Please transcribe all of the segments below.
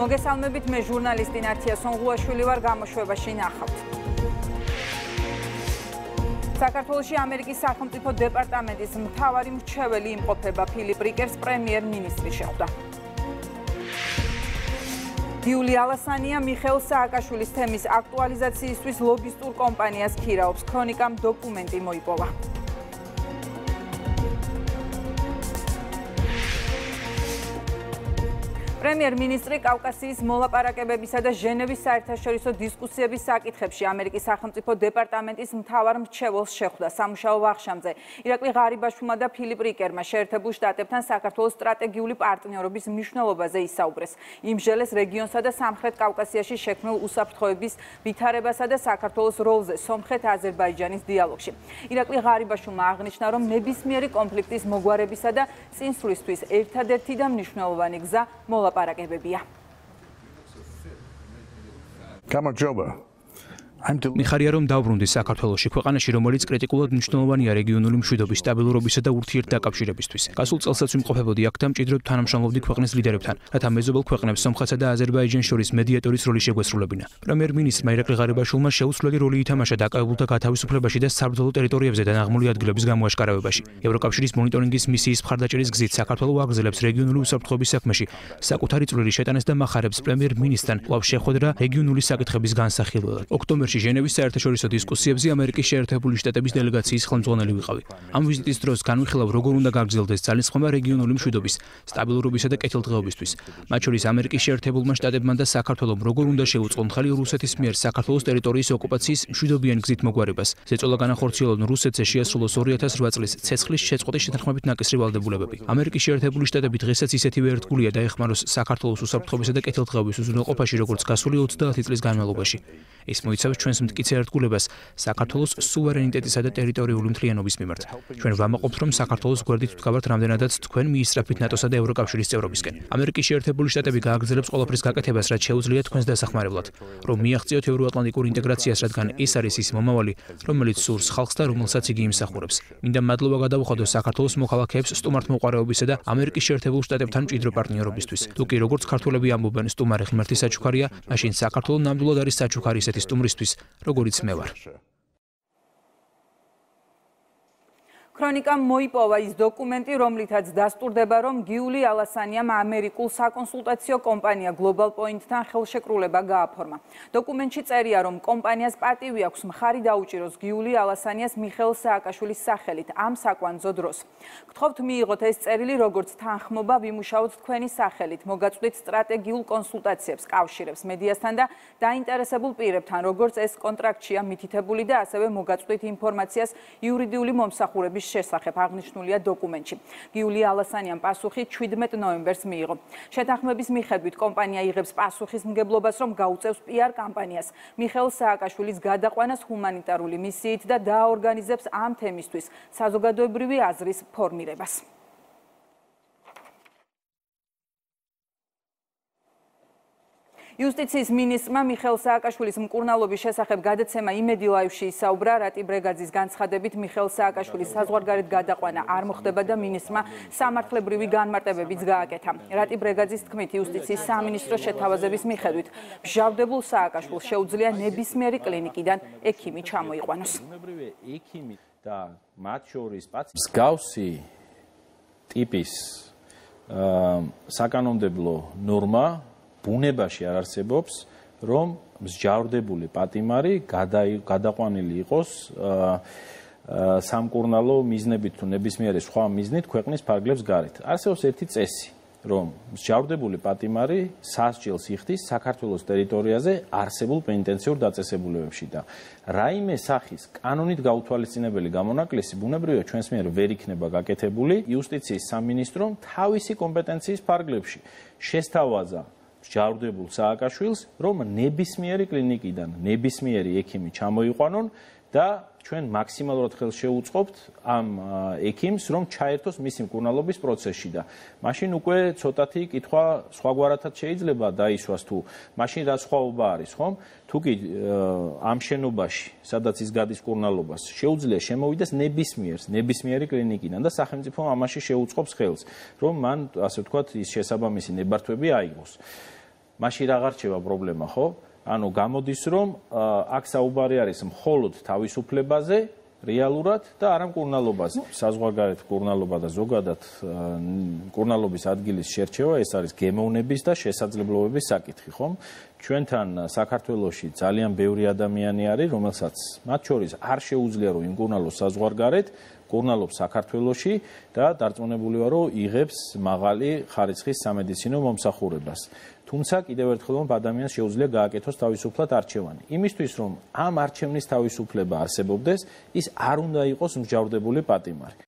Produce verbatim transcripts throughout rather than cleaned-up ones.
მოგესალმებით, მე ჟურნალისტი ნათია სონღუაშვილი ვარ, გამოშვებაში ნახავთ. საქართველოში ამერიკის სახელმწიფო დეპარტამენტის მთავარი მრჩეველი იმყოფება ფილიპ რიკერს პრემიერ-მინისტრი შეხვდა. გიული ალასანია მიხეილ სააკაშვილის თემის აქტუალიზაციისთვის ლობისტურ კომპანიას ქირაობს. ქრონიკამ დოკუმენტი მოიპოვა. პრემიერ-მინისტრი კავკასიის მოლაპარაკებებისა და ჟენევის საერთაშორისო დისკუსიების საკითხებში ამერიკის სახელმწიფო დეპარტამენტის მთავარ მრჩეველს შეხვდა. სამუშაო ვახშამზე ირაკლი ღარიბაშვილმა და ფილიპ რიკერმა შეერთებულ შტატებთან საქართველოს სტრატეგიული პარტნიორობის მნიშვნელობაზე ისაუბრეს. იმჟელეს რეგიონსა და სამხრეთ კავკასიაში შექმნილ უსაფრთხოების ვითარებასა და საქართველოს როლზე სომხეთ-აზერბაიჯანის დიალოგში. ირაკლი ღარიბაშვილმა აღნიშნა, რომ ნებისმიერი კონფლიქტის მოგვარებისა და წინსვლისთვის ერთადერთი და მნიშვნელოვანი გზა მოლაპარაკებებია. გამარჯობა. მიხარია რომ დავბრუნდი საქართველოში, ქვეყანაში, რომელიც კრიტიკულად მნიშვნელოვანია რეგიონული მშვიდობის, სტაბილურობისა და ურთიერთდაკავშირებისთვის. გასულ წელსაც ვიმყოფებოდი აქ და მჭიდროდ თანამშრომლობდი ქვეყნის ლიდერებთან, რათა მეზობელ ქვეყნებს სომხეთსა და აზერბაიჯანს შორის მედიატორის როლი შეგვესრულებინა. პრემიერ-მინისტრმა ირაკლი ღარიბაშვილმა შეუცვლელი როლი ითამაშა დაკავებულთა გათავისუფლებაში და საბრძოლო ტერიტორიებზე დანაღმული ადგილების გამოაშკარავებაში. ევროკავშირის მონიტორინგის მისიის მხარდაჭერის გზით საქართველო აგრძელებს რეგიონული უსაფრთხოების საქმეში საკუთარი წვლილი შეტანეს და მახარებს პრემიერ-მინისტრთან კვლავ შეხვედრა რეგიონული საკითხების განსახილველად. ოქტომბერში ჟენევის საერთაშორისო დისკუსიებზე ამერიკის შეერთებული შტატების დელეგაციის ხელმძღვანელი ვიყავი. ამ ვიზიტის დროს განვიხილავ, როგორ უნდა გაგრძელდეს ძალისხმევა რეგიონული მშვიდობის, სტაბილურობისა და კეთილდღეობისთვის. მათ შორის ამერიკის შეერთებულმა შტატებმა და საქართველომ როგორ უნდა შეუწყონ ხელი რუსეთის მიერ საქართველოს ტერიტორიის ოკუპაციის მშვიდობიან გზით მოგვარებას. ზეწოლა განახორციელონ რუსეთზე შეასრულოს ორი ათას რვა წლის ცეცხლის შეწყვეტის შეთანხმებით ნაკისრი ვალდებულებები. ამერიკის შეერთებული შტატები დღესაც ისეთივე ერთგულია დაეხმაროს საქართველოს უსაფრთხოებისა და კეთილდღეობის უზრუნველყოფაში, როგორც გასული ოცდაათი წლის განმავლობაში. ის მოიცავს ჩვენს მტკიცე ერთგულებას საქართველოს სუვერენიტეტისა და ტერიტორიული მთლიანობის მიმართ. ჩვენ ვამაყობთ, რომ საქართველოს გვერდით ვდგავართ რამდენადაც თქვენ მიისწრაფით ნატოსა და ევროკავშირის წევრობისკენ. ამერიკის შეერთებული შტატები გააგრძელებს ყველაფრის გაკეთებას, რაც შეუძლია თქვენს დასახმარებლად, რომ მიაღწიოთ ევროატლანტიკურ ინტეგრაციას, რადგან ეს არის ის მომავალი, რომელიც სურს ხალხს და რომელსაც იგი იმსახურებს. მინდა მადლობა გადავუხადო საქართველოს მოქალაქეებს სტუმართმოყვარეობისა და ამერიკის შეერთებულ შტატებთან მჭიდრო პარტნიორობისთვის. თუ კი როგორც ქართველები ამბობენ, სტუმარი ღმერთის საჩუქარია, მაშინ საქართველო ნამდვილად არის საჩუქარი ისეთი სტუმრისთვის, როგორიც მე ვარ. ქრონიკამ მოიპოვა ის დოკუმენტი, რომლითაც დასტურდება, რომ გიული ალასანიამ ამერიკულ საკონსულტაციო კომპანია Global Point-თან ხელშეკრულება გააფორმა. დოკუმენტში წერია, რომ კომპანიას პატივი აქვს მხარი დაუჭიროს გიული ალასანიას მიხეილ სააკაშვილის სახელით ამ საკვანძო დროს. გთხოვთ მიიღოთ ეს წერილი როგორც თანხმობა, ვიმუშაოთ თქვენი სახელით, მოგაწვდით სტრატეგიულ კონსულტაციებს, კავშირებს მედიასთან და დაინტერესებულ პირებთან, როგორც ეს კონტრაქტშია მითითებული და ასევე მოგაწვდით ინფორმაციას იურიდიული მომსახურების შესახებ აღნიშნულია დოკუმენტში. გიული ალასანიამ პასუხი ჩვიდმეტ ნოემბერს მიიღო. შეთანხმების მიხედვით კომპანია იღებს პასუხისმგებლობას, რომ გაუწევს პიარ კამპანიას მიხეილ სააკაშვილის გადაყვანას ჰუმანიტარული მისიით და დააორგანიზებს ამ თემისთვის საზოგადოებრივი აზრის ფორმირებას. იუსტიციის მინისტრმა მიხეილ სააკაშვილის მკურნალობის შესახებ გადაცემა იმედი ლაივში ისაუბრა. რატი ბრეგაძის განცხადებით მიხეილ სააკაშვილის საზღვარგარეთ გადაყვანა არ მოხდება და მინისტრმა სამართლებრივი განმარტებებიც გააკეთა. რატი ბრეგაძის თქმით, იუსტიციის სამინისტროს შეთავაზების მიხედვით მჟავდებულ სააკაშვილს შეუძლია ნებისმიერი კლინიკიდან ექიმი ჩამოიყვანოს. და მათ შორის მსგავსი ტიპის საკანონმდებლო ნორმა ბუნებაში არ არსებობს, რომ მსჯავრდებული პატიმარი გადაყვანილი იყოს სამკურნალო მიზნებით თუ ნებისმიერი სხვა მიზნით ქვეყნის ფარგლებს გარეთ. არსებობს ერთი წესი, რომ მსჯავრდებული პატიმარი სასჯელს იხდის საქართველოს ტერიტორიაზე არსებულ პენიტენციურ დაწესებულებებში და რაიმე სახის კანონით გაუთვალისწინებელი გამონაკლისი ბუნებრივია ჩვენს მიერ ვერ იქნება გაკეთებული. იუსტიციის სამინისტრომ თავისი კომპეტენციის ფარგლებში შესთავაზა მსჯავრდებულ სააკაშვილს, რომ ნებისმიერი კლინიკიდან ნებისმიერი ექიმი ჩამოიყვანონ და ჩვენ მაქსიმალურად ხელს შეუწყობთ ამ ექიმს, რომ ჩაერთოს მისი მკურნალობის პროცესში და მაშინ უკვე ცოტათი კითხვა სხვაგვარათაც შეიძლება დაისვას თუ მაშინ რა სხვაობა არის, ხომ? თუ კი ამ შენობაში, სადაც ის გადის მკურნალობას, შეუძლია შემოვიდეს ნებისმიერს, ნებისმიერი კლინიკიდან და სახელმწიფო ამაში შეუწყობს ხელს, რომ მან, ასე ვთქვათ, ის შესაბამისი ნებართვები აიღოს. მაშინ აღარ რჩება პრობლემა, ხო? ანუ გამოდის რომ აქ საუბარი არის მხოლოდ თავისუფლებაზე, რეალურად და არა მკურნალობაზე. საზღვარგარეთ მკურნალობა და ზოგადად მკურნალობის ადგილის შერჩევა ეს არის გემოვნების და შესაძლებლობების საკითხი, ხომ? ჩვენთან საქართველოში ძალიან ბევრი ადამიანი არის, რომელსაც მათ შორის არ შეუძლია რომ იმკურნალოს საზღვარგარეთ, მკურნალობს საქართველოში და დარწმუნებული ვარ რომ იღებს მაღალი ხარისხის სამედიცინო მომსახურებას. თუმცა კიდევ ერთხელ რომ ადამიანს შეუძლია გააკეთოს თავისუფლად არჩევანი. იმისთვის რომ ამ არჩევნის თავისუფლება არსებობდეს, ის არ უნდა იყოს მსჯავრდებული პატიმარი.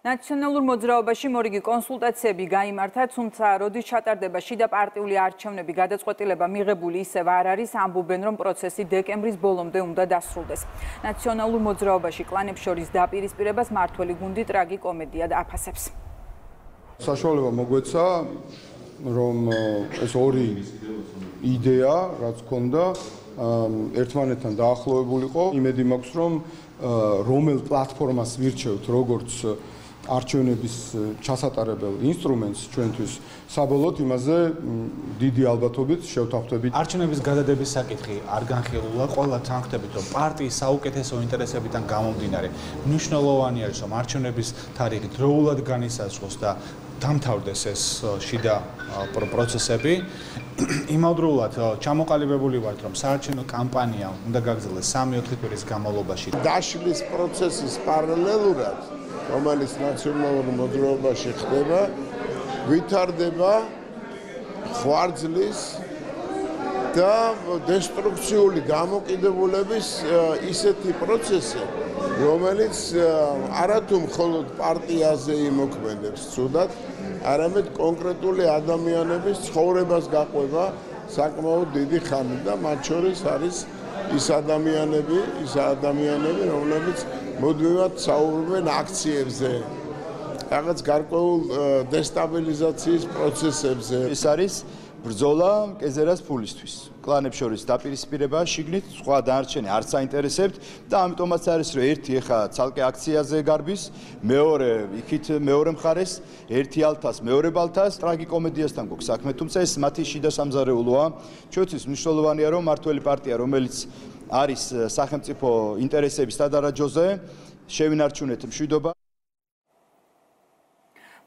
ნაციონალურ მოძრაობაში მორიგი კონსულტაციები გაიმართა, თუმცა როდის ჩატარდება შიდა პარტიული არჩევნები, გადაწყვეტილება მიღებული ისევ არ არის, ამბობენ რომ პროცესი დეკემბრის ბოლომდე უნდა დასრულდეს. ნაციონალურ მოძრაობაში კლანებს შორის დაპირისპირებას მართველი გუნდი ტრაგიკომედია აფასებს. საშუალება მოგვეცა რომ ეს ორი იდეა, რაც ქონდა, ერთმანეთთან დაახლოებულიყო. იმედი მაქვს, რომ რომელ პლატფორმას ვირჩევთ, როგორც არჩევნების ჩასატარებელ ინსტრუმენტს ჩვენთვის, საბოლოოდ იმაზე დიდი ალბათობით შევთანხმდებით. არჩევნების გადადების საკითხი არ განხილულა, ყველა თანხმდებით, რომ პარტიის საუკეთესო ინტერესებიდან გამომდინარე, მნიშვნელოვანი არის, რომ არჩევნების თარიღი დროულად განისაზღვროს და დამთავრდეს ეს შიდა პროცესები. იმავდროულად ჩამოყალიბებული ვართ, რომ საარჩევნო კამპანია უნდა გაგრძელდეს სამი-ოთხი კვირის განმავლობაში. დაშლის პროცესის პარალელურად, რომელიც ნაციონალურ მოძრაობაში ხდება, ვითარდება ხვარძლის და დესტრუქციული გამოკიდებულების ისეთი პროცესი, რომელიც არათუ მხოლოდ პარტიაზე იმოქმედებს ცუდად, არამედ კონკრეტული ადამიანების ცხოვრებას გაყვება საკმაოდ დიდი ხანი და მათ შორის არის ის ადამიანები, ის ადამიანები, რომლებიც მუდმივად საუბრობენ აქციებზე, რაღაც გარკვეულ დესტაბილიზაციის პროცესებზე. ეს არის ბრძოლა კეზერას ფულისთვის. კლანებს შორის დაპირისპირება შიგნით, სხვა დანარჩენი არც აინტერესებთ და ამიტომაც არის რომ ერთი ეხა ცალკე აქციაზე გარბის, მეორე იქით მეორე მხარეს, ერთი ალთას, მეორე ბალთას, ტრაგიკომედიასთან გვაქვს საქმე, თუმცა ეს მათი შიდა სამზარეულოა. ჩვენთვის მნიშვნელოვანია რომ მართველი პარტია, რომელიც არის სახელმწიფო ინტერესების სადარაჯოზე, შევინარჩუნეთ მშვიდობა.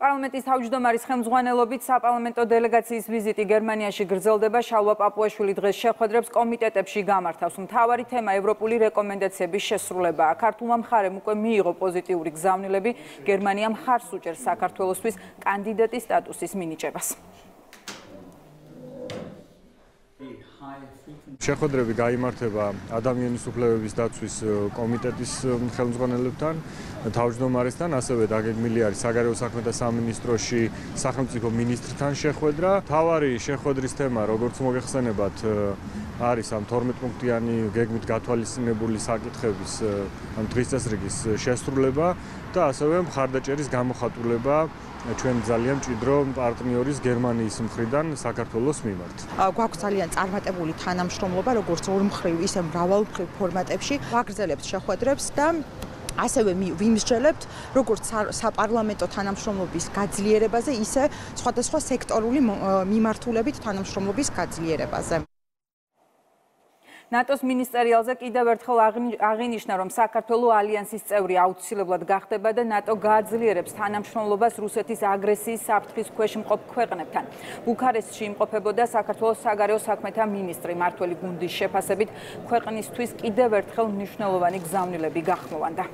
პარლამენტის თავმჯდომარის ხელმძღვანელობით საპარლამენტო დელეგაციის ვიზიტი გერმანიაში გრძელდება. შალვა პაპუაშვილი დღეს შეხვედრებს კომიტეტებში გამართავს. მთავარი თემა ევროპული რეკომენდაციების შესრულებაა. ქართულმა მხარემ უკვე მიიღო პოზიტიური გზავნილები. გერმანია მხარს უჭერს საქართველოსთვის კანდიდატის სტატუსის მინიჭებას. შეხვედრები გაიმართება ადამიანის უფლებების დაცვის კომიტეტის ხელმძღვანელებთან, თავმჯდომარესთან, ასევე დაგეგმილი არის საგარეო საქმეთა სამინისტროში სახელმწიფო მინისტრთან შეხვედრა. მთავარი შეხვედრის თემა, როგორც მოგეხსენებათ, არის ამ თორმეტ პუნქტიანი გეგმით გათვალისწინებული საკითხების ამ დღის წესრიგის შესრულება და ასევე მხარდაჭერის გამოხატულება ჩვენ ძალიან მჭიდრო პარტნიორის გერმანიის მხრიდან საქართველოს მიმართ. გვაქვს ძალიან წარმატებული თანამშრომლობა, როგორც ორმხრივ, ისე მრავალმხრივ ფორმატებში. ვაგრძელებთ შეხვედრებს და ასევე ვიმსჯელებთ როგორც საპარლამენტო თანამშრომლობის გაძლიერებაზე, ისე სხვადასხვა სექტორული მიმართულებით თანამშრომლობის გაძლიერებაზე. ნატოს მინისტერიალზე კიდევ ერთხელ აღინიშნა, რომ საქართველოს ალიანსის წევრი აუცილებლად გახდება და ნატო გააძლიერებს თანამშრომლობას რუსეთის აგრესიის საფრთხის ქვეშ მყოფ ქვეყნებთან. ბუქარესტში იმყოფებოდა საქართველოს საგარეო საქმეთა მინისტრი. მართველი გუნდის შეფასებით ქვეყნისთვის კიდევ ერთხელ მნიშვნელოვანი გზავნილები გახმოვანდა.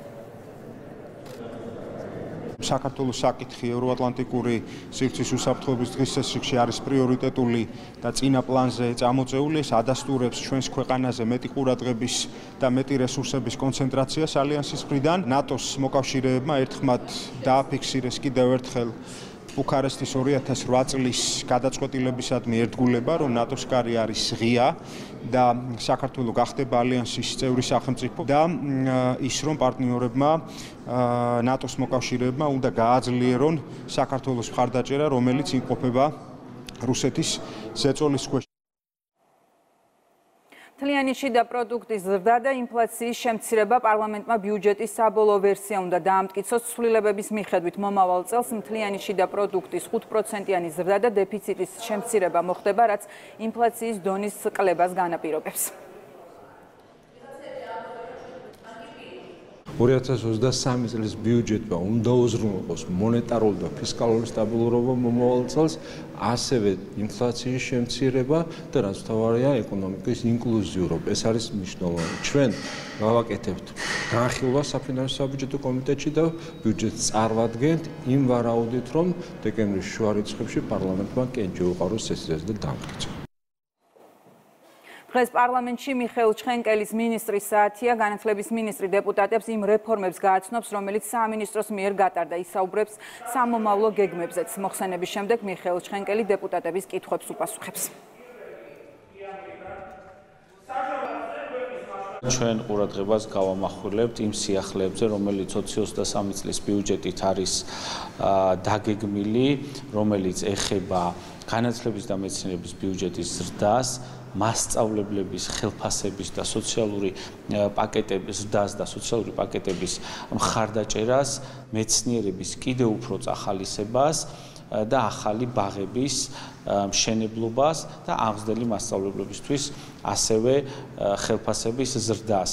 საქართველოს საკითხი ევროატლანტიკური სივრცის უსაფრთხოების დღის წესრიგში არის პრიორიტეტული და წინა პლანზე წამოწეული. ეს ადასტურებს ჩვენს ქვეყანაზე მეტი ყურადღების და მეტი რესურსების კონცენტრაციას ალიანსის მხრიდან. ნატოს მოკავშირეებმა ერთხმად დააფიქსირეს კიდევ ერთხელ ბუქარესტის ორი ათას ოთხ წლის გადაწყვეტილებისადმი ერთგულება, რომ ნატოს კარი არის ღია და საქართველოს გახდება ალიანსის წევრი სახელმწიფო და ის რომ პარტნიორებმა ნატოს მოკავშირეებმა უნდა გააძლიერონ საქართველოს მხარდაჭერა, რომელიც იმყოფება რუსეთის ზეწოლის ქვეშ. მთლიანი შიდა პროდუქტის ზრდა და ინფლაციის შემცირება პარლამენტმა ბიუჯეტის საბოლოო ვერსია უნდა დაამტკიცოს. ცვლილებების მიხედვით მომავალ წელს მთლიანი შიდა პროდუქტის ხუთ პროცენტიანი ზრდა და დეფიციტის შემცირება მოხდება, რაც ინფლაციის დონის კლებას განაპირობებს. ორი ათას ოცდასამი წლის ბიუჯეტმა უნდა უზრუნველყოს მონეტარული და ფისკალური სტაბილურობა მომავალ წელს, ასევე ინფლაციის შემცირება და რაც მთავარია ეკონომიკის ინკლუზიურობა. ეს არის მნიშვნელოვანი. ჩვენ გავაკეთებთ განხილვას საფინანსო საბიუჯეტო კომიტეტში და ბიუჯეტს წარმოვადგენთ იმ ვარაუდით, რომ დეკემბრის შუა რიცხვებში პარლამენტმა კენჭი უყაროს სესიაზე და დამტკიცოს. დღეს პარლამენტში მიხეილ ჩხენკელის მინისტრის საათია. განათლების მინისტრი დეპუტატებს იმ რეფორმებს გააცნობს, რომელიც სამინისტროს მიერ გატარდა. ისაუბრებს სამომავლო გეგმებზეც. მოხსენების შემდეგ მიხეილ ჩხენკელი დეპუტატების კითხვებს უპასუხებს. ჩვენ ყურადღებას გავამახვილებთ იმ სიახლეებზე, რომელიც ოცი ოცდასამი წლის ბიუჯეტით არის დაგეგმილი, რომელიც ეხება განათლების და მეცნიერების ბიუჯეტის ზრდას, მასწავლებლების ხელფასების და სოციალური პაკეტების ზრდას და სოციალური პაკეტების მხარდაჭერას, მეცნიერების კიდევ უფრო წახალისებას და ახალი ბაღების მშენებლობას და აღზრდელი მასწავლებლებისთვის ასევე ხელფასების ზრდას.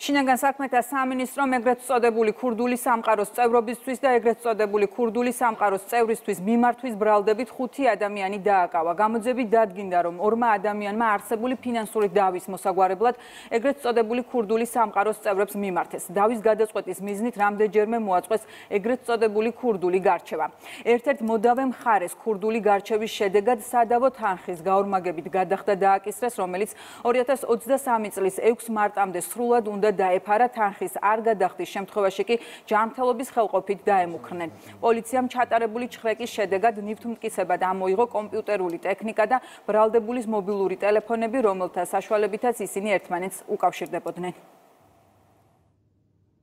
შინაგან საქმეთა სამინისტრომ ეგრეთ წოდებული ქურდული სამყაროს წევრობისთვის და ეგრეთ წოდებული ქურდული სამყაროს წევრისთვის მიმართვის ბრალდებით ხუთი ადამიანი დააკავა. გამოძიებით დადგინდა, რომ ორმა ადამიანმა არსებული ფინანსური დავის მოსაგვარებლად ეგრეთ წოდებული ქურდული სამყაროს წევრებს მიმართეს. დავის გადაწყვეტის მიზნით რამდენჯერმე მოაწყვეს ეგრეთ წოდებული ქურდული გარჩევა. ერთ-ერთ მოდავე მხარეს ქურდული გარჩევის შედეგად სადავო თანხის გაორმაგებით გადახდა დააკისრეს, რომელიც ორი ათას ოცდასამი წლის ექვსი მარტამდე სრულად უნდა დაეფარა, თანხის არ გადახდის შემთხვევაში კი ჯანმრთელობის ხელყოფით დაემუქრნენ. პოლიციამ ჩატარებული ჩხრეკის შედეგად ნივთმტკიცებად ამოიღო კომპიუტერული ტექნიკა და ბრალდებულის მობილური ტელეფონები, რომელთა საშუალებითაც ისინი ერთმანეთს უკავშირდებოდნენ.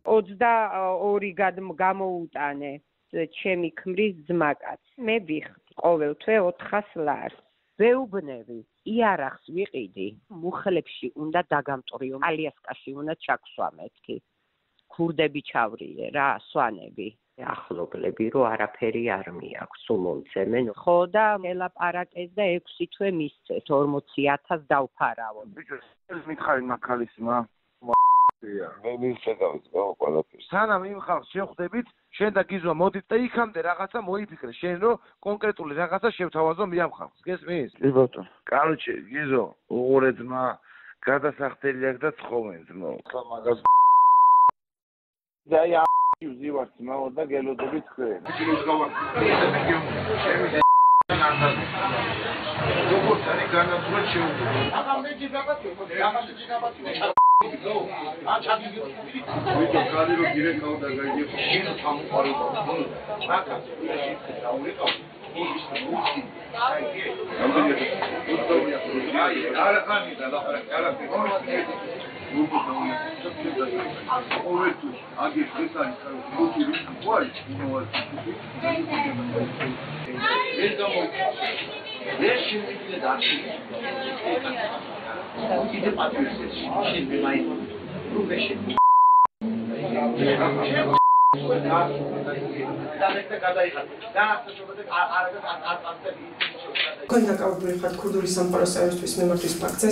ოცდაორი გამოუტანე ჩემი ქმრის ძმაკაც. მე ვიხდი ყოველთვე ოთხას ლარს. ვეუბნები, იარაღს ვიყიდი, მუხლებში უნდა დაგამტვრიო, ალიასკაში უნდა ჩაქსვა მეთქი. ქურდები ჩავრიე რა, სვანები. ახლობლები რომ არაფერი არ მიაქვს, სულ მომცემენ. ხო და ელაპარაკეს და ექვსი თვე მისცეს, ორმოცი ათას დავფარავო. ბიჭო, მითხარი მაქალისმა. მე მისცემს ყველაფერს. სანამ იმ ხალხს შეხვდებით, შენ და გიზო მოდით და იქამდე რაღაცა მოიფიქრე, შენ რომ კონკრეტული რაღაცა შევთავაზო მე ამ ხალხს. გესმის? კი ბატონო. კაროჩე, გიზო, უღურე ძმა, გადასახდელი აქვს და ცხოვრენ ძმო. ხა მაგას და აი ვზივართ ძმაო და გელოდებით თქვენ. ის გავარ. შემიძლია როგორც არის განათლება შეუძლია. აბა მე ჯიგაბათი, აბა ჯიგაბათი. ვიდეო კადრი რო დირექტორ და გაიგე შენ სამყარო მაკა დაურეკავ ის მუსიკი აიგე აი არა ხანი და ლაპარაკ კარაფი ნუ დაუნე ორი აგი ეს არის მუსიკი ვაი ინოვაცია ეს გამო ეს შეიძლება დაში 이제 빠뜨렸어요. 신비 많이 루베시. კონდაკავებული ხარ ქურდული სამყაროს წევრისთვის მიმართვის ფაქტზე.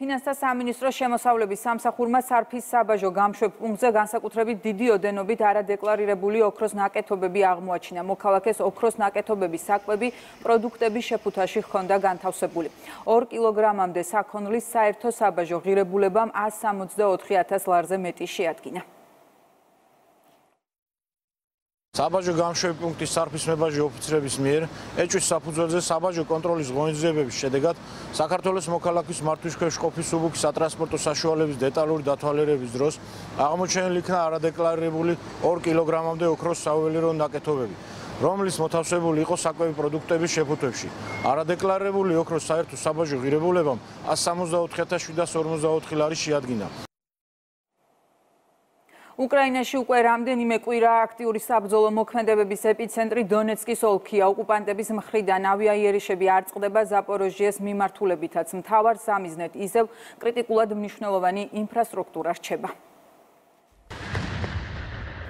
ფინანსთა სამინისტროს შემოსავლების სამსახურმა სარფის საბაჟო გამშვებ პუნქტზე განსაკუთრებით დიდი ოდენობით არადეკლარირებული ოქროს ნაკეთობები აღმოაჩინა. მოქალაქეს ოქროს ნაკეთობების საკვები პროდუქტების შეფუთაში ჰქონდა განთავსებული. ორ კილოგრამამდე საქონლის საერთო საბაჟო ღირებულებამ ას სამოცდაოთხი ათას ლარზე მეტი შეადგინა. საბაჟო გამშვები პუნქტის სარფის მებაჟი ოფიცრების მიერ ეჭვის საფუძველზე საბაჟო კონტროლის ღონისძიებების შედეგად საქართველოს მოქალაქის მართვის ქვეშ ყოფის უბუქი სატრანსპორტო საშუალების დეტალური დათვალიერების დროს აღმოჩენილი იქნა არადეკლარირებული ორ კილოგრამამდე ოქროს საუველირო ნაკეთობები, რომლის მოთავსებული იყო საკვები პროდუქტების შეფუთვებში. არადეკლარირებული ოქროს საერთო საბაჟო ღირებულებამ ას სამოცდაოთხი ათას შვიდას ორმოცდაოთხი ლარი შეადგინა. უკრაინაში უკვე რამდენიმე კვირა აქტიური საბრძოლო მოქმედებების ეპიცენტრი დონეცკის ოლქია. ოკუპანტების მხრიდან ავიაიერიშები არ წყდება ზაპოროჟიეს მიმართულებითაც. მთავარ სამიზნედ ისევ კრიტიკულად მნიშვნელოვანი ინფრასტრუქტურა რჩება.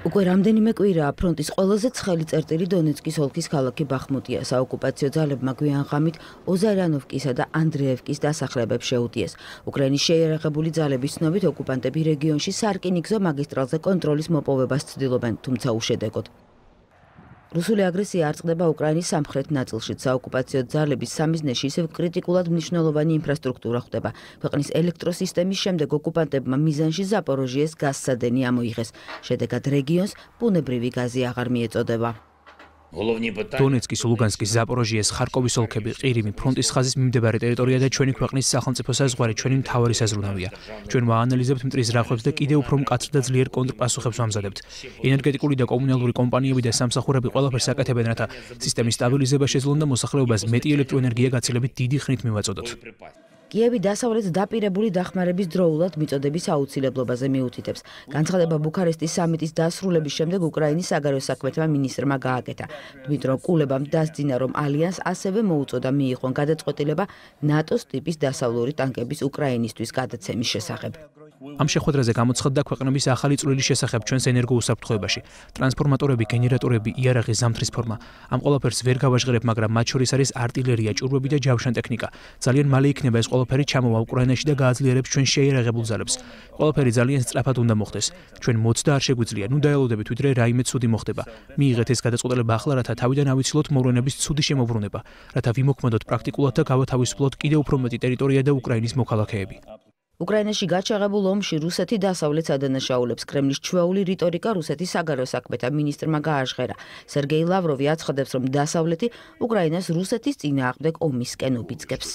უკვე რამდენიმე კვირაა ფრონტის ყველაზე ცხელი წერტილი დონეცკის ოლქის ქალაქი ბახმუტია. საოკუპაციო ძალებმა გვიან ღამით ოზარიანოვკისა და ანდრეევკის დასახლებებს შეუტიეს. უკრაინის შეიარაღებული ძალების ცნობით ოკუპანტები რეგიონში სარკინიგზო მაგისტრალზე კონტროლის მოპოვებას ცდილობენ, თუმცა უშედეგოდ. რუსული აგრესია არ წყდება უკრაინის სამხრეთ ნაწილში. საოკუპაციო ძალების სამიზნეში ისევ კრიტიკულად მნიშვნელოვანი ინფრასტრუქტურა ხდება. ქვეყნის ელექტროსისტემის შემდეგ ოკუპანტებმა მიზანში ზაპოროჟიეს გაზსადენი ამოიღეს. შედეგად რეგიონს ბუნებრივი გაზი აღარ მიეწოდება. დონეცკის, ლუგანსკის, ზაპოროჟიეს, ხარკოვის ოლქები, ყირიმი, ფრონტის ხაზის მიმდებარე ტერიტორია და ჩვენი ქვეყნის სახელმწიფო საზღვარი ჩვენი მთავარი საზრუნავია. ჩვენ ვაანალიზებთ მტრის რახვებს და კიდევ უფრო მკაცრ და ძლიერ კონტრპასუხებს ვამზადებთ. ენერგეტიკული და კომუნალური კომპანიები და სამსახურები ყველაფერს აკეთებენ, რათა სისტემის სტაბილიზება შეძლონ და მოსახლეობას მეტი ელექტროენერგია გაცილებით დიდი ხნით მივაწოდოთ. კიევი დასავლეთს დაპირებული დახმარების დროულად მიწოდების აუცილებლობაზე მიუთითებს. განცხადება ბუქარესტის სამიტის დასრულების შემდეგ უკრაინის საგარეო საქმეთა მინისტრმა გააკეთა. დმიტრო კულებამ დასძინა, რომ ალიანს ასევე მოუწოდა მიიღონ გადაწყვეტილება ნატოს ტიპის დასავლური ტანკების უკრაინისთვის გადაცემის შესახებ. ამ შეხვედრაზე გამოცხადდა ქვეყნების ახალი წვლილი შესახებ ჩვენს ენერგოუსაფრთხოებაში. ტრანსფორმატორები, გენერატორები, იარაღი, ზამთრის ფორმა. ამ ყველაფერს ვერ გავაჟღერებ, მაგრამ მათ შორის არის артиლერია, ჭურვები და ჯავშან ტექნიკა. ძალიან მალე იქნება ეს ყველაფერი ჩამოვა უკრაინაში და გააძლიერებს ჩვენ შეიარაღებულ ძალებს. ყველაფერი ძალიან სწრაფად უნდა მოხდეს. ჩვენ მოცდა არ შეგვიძლია. ნუ დაელოდებით, ვიდრე რაიმე ცუდი მოხდება. მიიღეთ ეს გადაწყვეტილება ახლა, რათა თავიდან ავიცილოთ მოვლენების ცუდი შემოbrunება, რათა ვიმოქმედოთ პრაქტიკულად და გავათავისუფლოთ კიდევ უფრო მეტი ტერიტორია და უკრაინის მოქალაქეები. უკრაინაში გაჩაღებულ ომში რუსეთი დასავლეთს ადანაშაულებს. კრემლის ჩვეული რიტორიკა რუსეთის საგარეო საქმეთა მინისტრმა გააჟღერა. სერგეი ლავროვი აცხადებს, რომ დასავლეთი უკრაინას რუსეთის წინააღმდეგ ომისკენ უბიძგებს.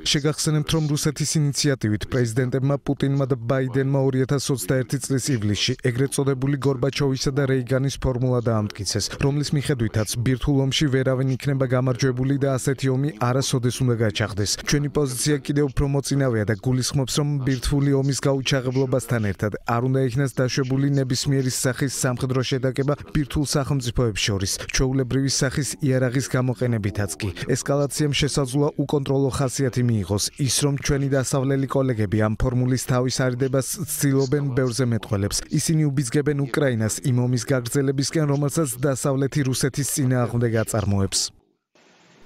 შეგახსენებთ, რომ რუსეთის ინიციატივით პრეზიდენტებმა პუტინმა და ბაიდენმა ორი ათას ოცდაერთი წლის ივლისში ეგრეთ წოდებული გორბაჩოვისა და რეიგანის ფორმულა დაამტკიცეს, რომლის მიხედვითაც ბირთვულ ომში ვერავინ იქნება გამარჯვებული და ასეთი ომი არასოდეს უნდა გაჩაღდეს. ჩვენი პოზიცია კიდევ უფრო მოწინავეა და გულისხმობს, რომ ბირთვული ომის გაუჩაღებლობასთან ერთად არ უნდა იქნას დაშვებული ნებისმიერი სახის სამხედრო შეტაკება ბირთვულ სახელმწიფოებს შორის, ჩვეულებრივი სახის იარაღის გამოყენებითაც კი. ესკალაციამ შესაძლოა უკონტროლო ხასიათი მიიღოს, ის რომ ჩვენი დასავლელი კოლეგები ამ ფორმულის თავის არიდებას ცდილობენ ბევრზე მეტყველებს. ისინი უბიძგებენ უკრაინას იმ ომის გაგრძელებისკენ, რომელსაც დასავლეთი რუსეთის წინააღმდეგ აწარმოებს.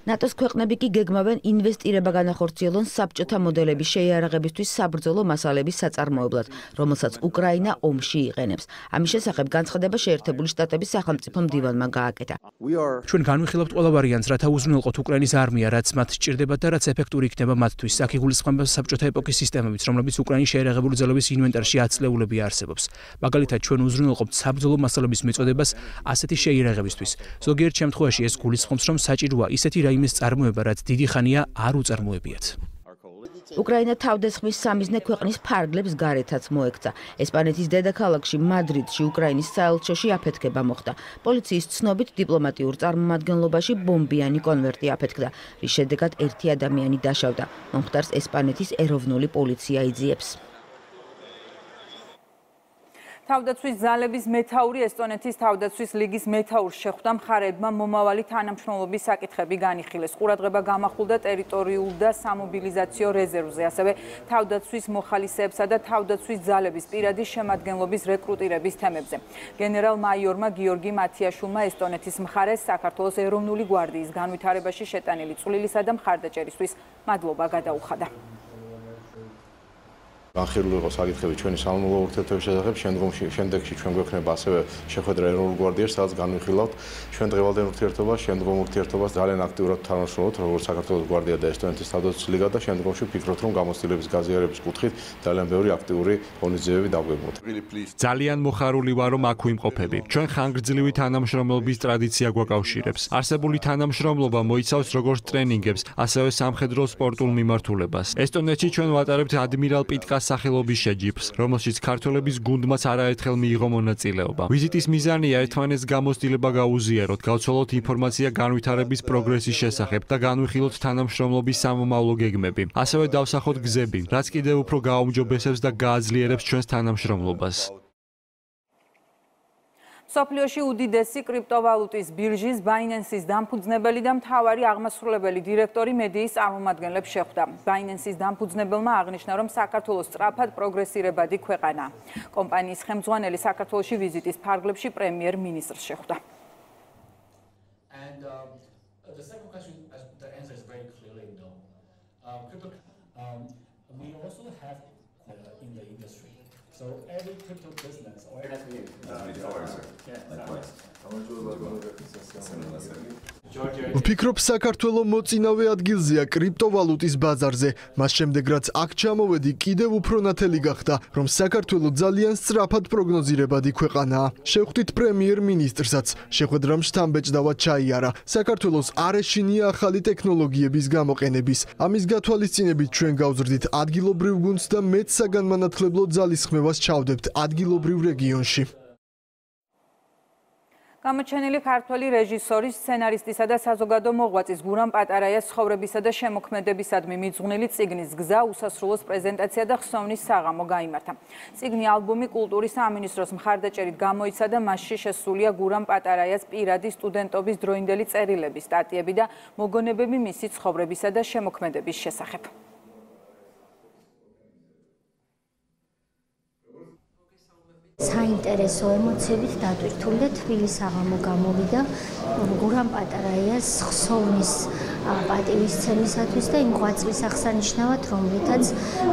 ნატოს ქვეყნები კი გეგმავენ ინვესტირება განახორციელონ საბჭოთა მოდელების შეიარაღებისთვის საბრძოლო მასალების საწარმოებლად, რომელსაც უკრაინა ომში იყენებს. ამის შესახებ განცხადება შეერთებული შტატების სახელმწიფო მდივანმა გააკეთა. ჩვენ განვიხილავთ ყველა ვარიანტს, რათა უზრუნველყოთ უკრაინის არმია, რაც მათ სჭირდებათ და რაც ეფექტური იქნება მათთვის. აქ იგულისხმება საბჭოთა ეპოქის სისტემებიც, რომლებიც უკრაინის შეიარაღებული ძალების ინვენტარში ათწლეულები არსებობს. მაგალითად, ჩვენ უზრუნველყოფთ საბრძოლო მასალების მიწოდებას ასეთი შეიარაღებისთვის. ზოგიერთ შემთხვევაში ეს გულისხმობს, რომ საჭიროა ისეთი იმის წარმოება, რაც დიდი ხანია არ უწარმოებიათ. უკრაინა თავდასხმის სამიზნე ქვეყნის ფარგლებს გარეთაც მოექცა. ესპანეთის დედაქალაქში მადრიდში უკრაინის საელჩოში აფეთქება მოხდა. პოლიციის ცნობით დიპლომატიურ წარმომადგენლობაში ბომბიანი კონვერტი აფეთქდა, რის შედეგად ერთი ადამიანი დაშავდა. მომხდარს ესპანეთის ეროვნული პოლიცია იძიებს. თავდაცვის ძალების მეთაური ესტონეთის თავდაცვის ლიგის მეთაურს შეხვდა მხარეებმა მომავალი თანამშრომლობის საკითხები განიხილეს. ყურადღება გამახვილდა ტერიტორიულ და სამობილიზაციო რეზერვზე, ასევე თავდაცვის მოხალისეებსა და თავდაცვის ძალების პირადი შემადგენლობის რეკრუტირების თემებზე. გენერალ-მაიორმა გიორგი მათიაშვილმა ესტონეთის მხარეს საქართველოს ეროვნული გვარდიის განვითარებაში შეტანილი წვლილისა და მხარდაჭერისთვის მადლობა გადაუხადა. განხილული იყო საკითხები ჩვენი სამომავლო ურთიერთობების შესახებ, შემდგომში შემდეგში ჩვენ გვექნება ასევე შეხვედრა ეროვნულ გვარდიაში, სადაც განვიხილავთ ჩვენ დღევანდელ ურთიერთობას, შემდგომ ურთიერთობას ძალიან აქტიურად თანამშრომლობთ, როგორც საქართველოს გვარდია და ესტონეთის თავდაცვის ლიგა და შემდგომში ვფიქრობთ, რომ გამოცდილების გაზიარების კუთხით ძალიან ბევრი აქტიური ღონისძიებები დაგვეგმოთ. ძალიან მოხარული ვარ, რომ აქ ვიმყოფები. ჩვენ ხანგრძლივი თანამშრომლობის ტრადიცია გვაკავშირებს. არსებული თანამშრომლობა მოიცავს როგორც ტრენინგებს, ასევე სამხედრო სპორტულ მიმართულებას. ესტონეთში ჩვენ ვატარებთ ადმირალ პიტკას სახელობის შეჯიბრს, რომელშიც ქართველების გუნდმაც არაერთხელ მიიღო მონაწილეობა. ვიზიტის მიზანია ერთმანეთს გამოცდილება გაუზიაროთ, გავცვალოთ ინფორმაცია განვითარების პროგრესის შესახებ და განვიხილოთ თანამშრომლობის სამომავლო გეგმები. ასევე დავსახოთ გზები, რაც კიდევ უფრო გააუმჯობესებს და გააძლიერებს ჩვენს თანამშრომლობას. სოფლიოში უდიდესი კრიპტოვალუტის ბირჟის Binance-ის დამფუძნებელი და მთავარი აღმასრულებელი დირექტორი მედიის წარმომადგენლებს შეხვდა. Binance-ის დამფუძნებელმა აღნიშნა, რომ საქართველოს სწრაფად პროგრესირებადი ქვეყანაა. კომპანიის ხელმძღვანელი საქართველოში ვიზიტის ფარგლებში პრემიერ-მინისტრს შეხვდა. We also have in the industry. So every crypto business or every ვფიქრობ, საქართველოს მოწინავე ადგილზეა კრიპტოვალუტის ბაზარზე. მას შემდეგ, რაც აქ ჩამოვედი, კიდევ უფრო ნათელი გახდა, რომ საქართველოს ძალიან სწრაფად პროგნოზირებადი ქვეყანაა. შევხვდით პრემიერ-მინისტრსაც, შეხვედრამ შთამბეჭდავად ჩაიარა. საქართველოს არ ეშინია ახალი ტექნოლოგიების გამოყენების. ამის გათვალისწინებით ჩვენ გავზრდით ადგილობრივ გუნდს და მეც საგანმანათლებლო ძალისხმევას ჩავდებთ ადგილობრივ რეგიონში. გამოჩენილი ქართველი რეჟისორის, სცენარისტისა და საზოგადო მოღვაწის გურამ პატარაიას ცხოვრებისა და შემოქმედებისადმი მიძღვნილი წიგნის გზა უსასრულოს პრეზენტაცია და ხსოვნის საღამო გაიმართა. წიგნი ალბომი კულტურის სამინისტროს მხარდაჭერით გამოიცა და მასში შესულია გურამ პატარაიას პირადი სტუდენტობის დროინდელი წერილები, სტატიები და მოგონებები მისი ცხოვრებისა და შემოქმედების შესახებ. საინტერესო ემოციებით დატვირთული და თბილი საღამო გამოვიდა გურამ პატარაიას ხსოვნის პატივისცემისათვის და იმ ღვაწლის აღსანიშნავად, რომლითაც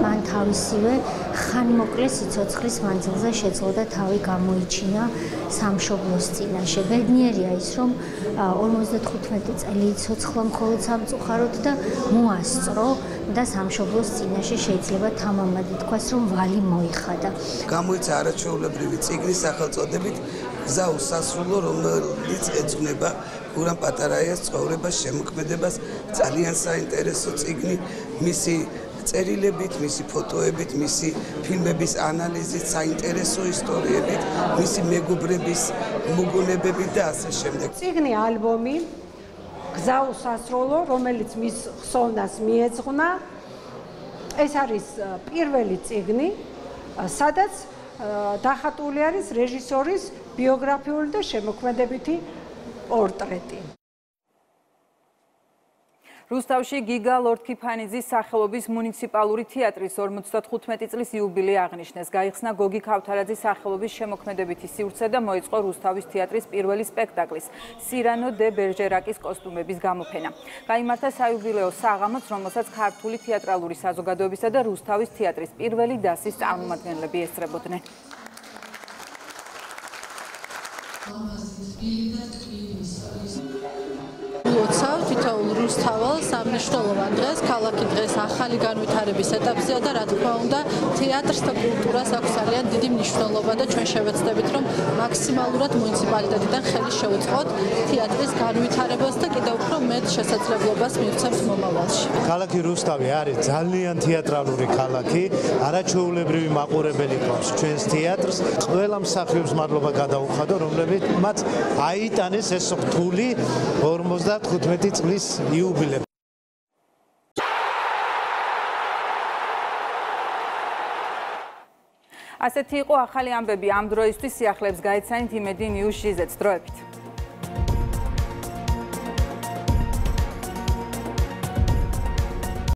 მან თავისივე ხანმოკლე სიცოცხლის მანძილზე შეძლო და თავი გამოიჩინა სამშობლოს წინაშე. ბედნიერია ის, რომ ორმოცდათხუთმეტი წელი იცოცხლა მხოლოდ სამწუხაროდ და მოასწრო და სამშობლოს წინაშე შეიძლება თამამად ითქვას, რომ ვალი მოიხადა. გამოიცა არაჩვეულებრივი წიგნის სახელწოდებით გზა უსასრულო, რომელიც ეძღვნება გურამ პატარაიას ცხოვრებას, შემოქმედებას, ძალიან საინტერესო წიგნი, მისი წერილებით, მისი ფოტოებით, მისი ფილმების ანალიზით, საინტერესო ისტორიებით, მისი მეგობრების მოგონებებით და ასე შემდეგ. წიგნი ალბომი გზა უსასრულო, რომელიც მის ხსოვნას მიეძღვნა. ეს არის პირველი წიგნი, სადაც დახატული არის რეჟისორის ბიოგრაფიული და შემოქმედებითი პორტრეტი. რუსთავში გიგა ლორთქიფანიძის სახელობის მუნიციპალური თეატრის ორმოცდათხუთმეტი წლის იუბილე აღნიშნეს. გაიხსნა გოგი ქავთარაძის სახელობის შემოქმედებითი სივრცე და მოეწყო რუსთავის თეატრის პირველი სპექტაკლის სირანო დე ბერჟერაკის კოსტუმების გამოფენა. გაიმართა საიუბილეო საღამოც, რომელსაც ქართული თეატრალური საზოგადოებისა და რუსთავის თეატრის პირველი დასის წარმომადგენლები ესწრებოდნენ. ლოცავ თითოეულ რუსთაველს ამნიშნულოვან დღეს, ქალაქი დღეს ახალი განვითარების ეტაპზეა და რა თქმა უნდა, თეატრს და კულტურას აქვს ძალიან დიდი მნიშვნელობა და ჩვენ შევეცდებით, რომ მაქსიმალურად მუნიციპალიტეტიდან ხელი შეუწყოთ თეატრის განვითარებას და კიდევ უფრო მეტ შესაძლებლობას მივცემთ მომავალში. ქალაქი რუსთავი არის ძალიან თეატრალური ქალაქი, არაჩვეულებრივი მაყურებელი გვაქვს ჩვენს თეატრს. ყველა მსახიობს მადლობა გადაუხადო, რომლებიც მათ აიტანეს ეს რთული ორმოცდათხუთმეტი წლის იუბილე. ასეთი იყო ახალი ამბები ამ დროისთვის. სიახლეებს გაეცანით იმედი ნიუს ჟიზეც. დროებით.